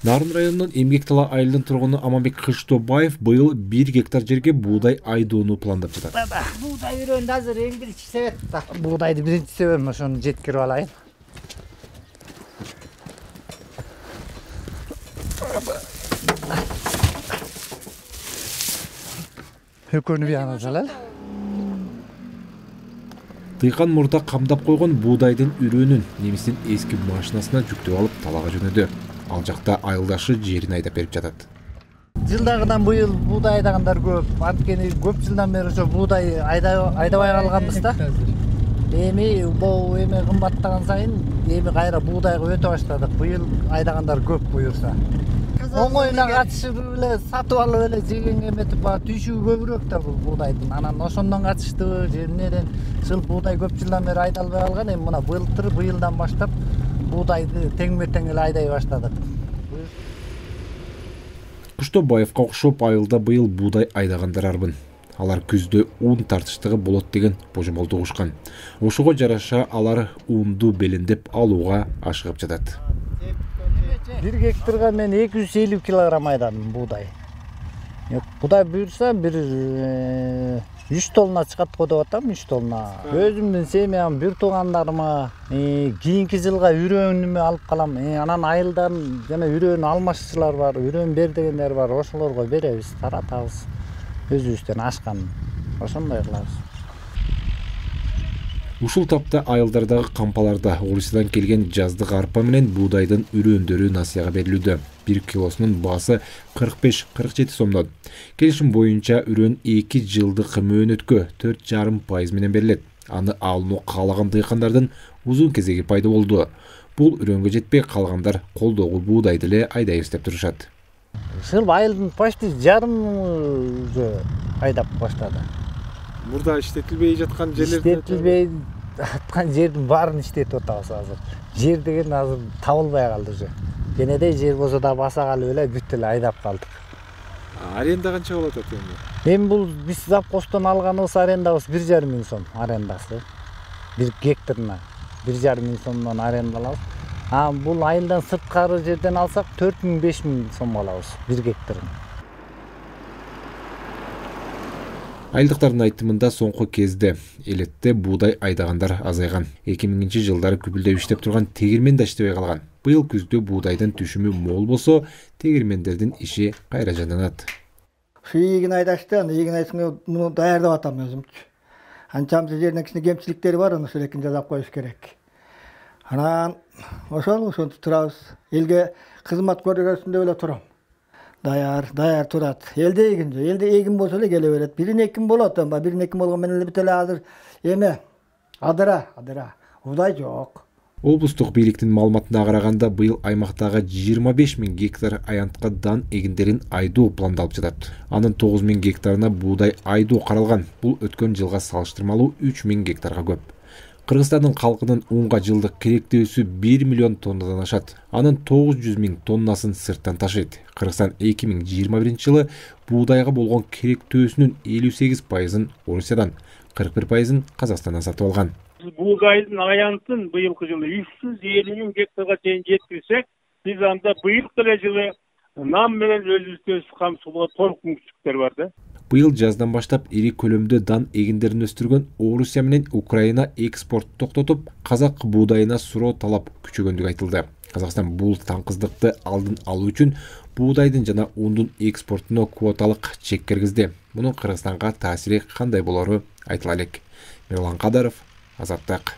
Нарын районунун Эмгектала айылынын тургуну Аманбек Кыштобаев быйыл 1 гектар жерге буудай айдоону пландап жатат. Буудай үйрөндү азыр эң биринчи себеп да. Буудайды биринчи себебим ошону жеткирип алайын. Экөөнү бияна салалы. Тыйкан мурда камдап койгон буудайдын үрөөнүн немистин эски машинасына жүктөп алып талага жөнөдү. Ал жакта айылдашы жерин айдап берип жатат. Жылдагыдан быйыл буудай айдагандар көп. Анткени көп жылдан бери ошо буудай айдабай калганбыз да. Эми бул кымбаттаган сайын эми кайра буудайга өтө баштадык. Быйыл айдагандар көп буюрса. Оңоюна катышып эле сатып алып эле жегенге эметип түйшүгү көбүрөөк да бул буудайдын. Анан ошондон катыштыбы, жеринен жыл буудай көп жылдан бери айдалбай калган. Эми мына быйылдан баштап буудайды тең-тең эле айдай баштадык. Кыштобаевга окшоп айылда быйыл буудай айдагандар арбын. Алар күздө ун тартыштыгы болот деген божомолду угушкан. Ошого жараша алар унду белиндеп алууга ашыгып жатат. 1 гектарга мен 250 килограмм айдадым буудай. Буудай буюрса бир 3 тонна чыгат го деп атам, 3 тонна. Өзүмдүн семьям, бир туугандарыма кийинки жылга үрөөнүмө алып калам. Анан айылдан жана үрөөнү алмашчылар бар, үрөөн бер дегендер бар, ошолорго беребиз, таратабыз. Өзүбүздөн ашкан. Ошондой кылабыз. Ушул тапта айылдардагы кампаларда Орусиядан келген жаздык арпа менен буудайдын үрөөндөрү насыяга берилүүдө. 1 килосунун баасы 45-47 сомдон. Келишим боюнча үрөөн 2 жылдык мөөнөткө 4,5% менен берилет. Аны алууну каалаган дыйкандардын узун кезеги пайда болду. Бул үрөөнгө жетпей калгандар колдогу буудайды эле айдайбыз деп турушат. Ушул айылдын почти жарым айдап баштады. Мурда иштетилбей жаткан жердин баарын иштетип атабыз азыр. Жер деген азыр табылбай калды уже. Кенедей жер болсо да баса калып эле бүт эле айдап калдык. Аренда канча болот эми? Эми бул биз завхоздон алганыбыз арендабыз 1,5 миң сом арендасы. 1 гектарына 1,5 миң сомдон аренда алабыз. Бул айылдан сырткары жерден алсак 4 миң 5 миң сом алабыз 1 гектарын. Айылдыктардын айтымында соңку кезде элетте буудай айдагандар азайган. 2000 жылдары күбүлдөп иштеп турган тегирмен да иштебей калган. Быйыл күздө буудайдын түшүмү мол болсо, тегирмендердин иши кайра жанданат. Ушу ийгин айдашты, ийгин айдашты муну даярдап атам өзүмчү. Анчамчы жеринен кичине кемчиликтери бар, аны ушул жасап коюш керек. Анан ошентип турабыз. Элге кызмат көргөзүндө эле турам. Даяр турат. Элде эгин болсо эле келе берет. Бирин экин болот, бирин экин болгон менен эле бүт эле азыр эме адыра. Удай жок. Облустук бийликтин маалыматына караганда быйыл аймактагы 25 миң гектар аянтка дан эгиндерин айдоо пландалып жатат. Анын 9 миң гектарына буудай айдоо каралган. Бул өткөн жылга салыштырмалуу 3 миң гектарга көп. Кыргызстандын калкынын унга жылдык керектөөсү 1 миллион тоннадан ашат. Анын 900 миң тоннасын сырттан ташыйт. Кыргызстан 2021 жылы буудайга болгон керектөөсүнүн 58%-ын Орусиядан, 41%-ын Казакстандан сатып алган. Буудайдын аянтын быйылкы жылы 350 миң гектарга чейин жеткирсек, биз анда быйыл эле жылы нам менен өзүбүздү камсыздоо толук мүмкүнчүлүктөр бар да. Быйыл жаздан баштап ири көлөмдө дан эгиндерин өстүргөн Орусия менен Украина экспорт токтотуп, казак буудайына суроо талап күчөгөндүгү айтылды. Казакстан бул таңкыздыкты алдын алуу үчүн буудайдын жана ундун экспортуна квоталык чек киргизди. Мунун Кыргызстанга таасири кандай болору айтыла элек. Мирлан Кадаров, Азаттык.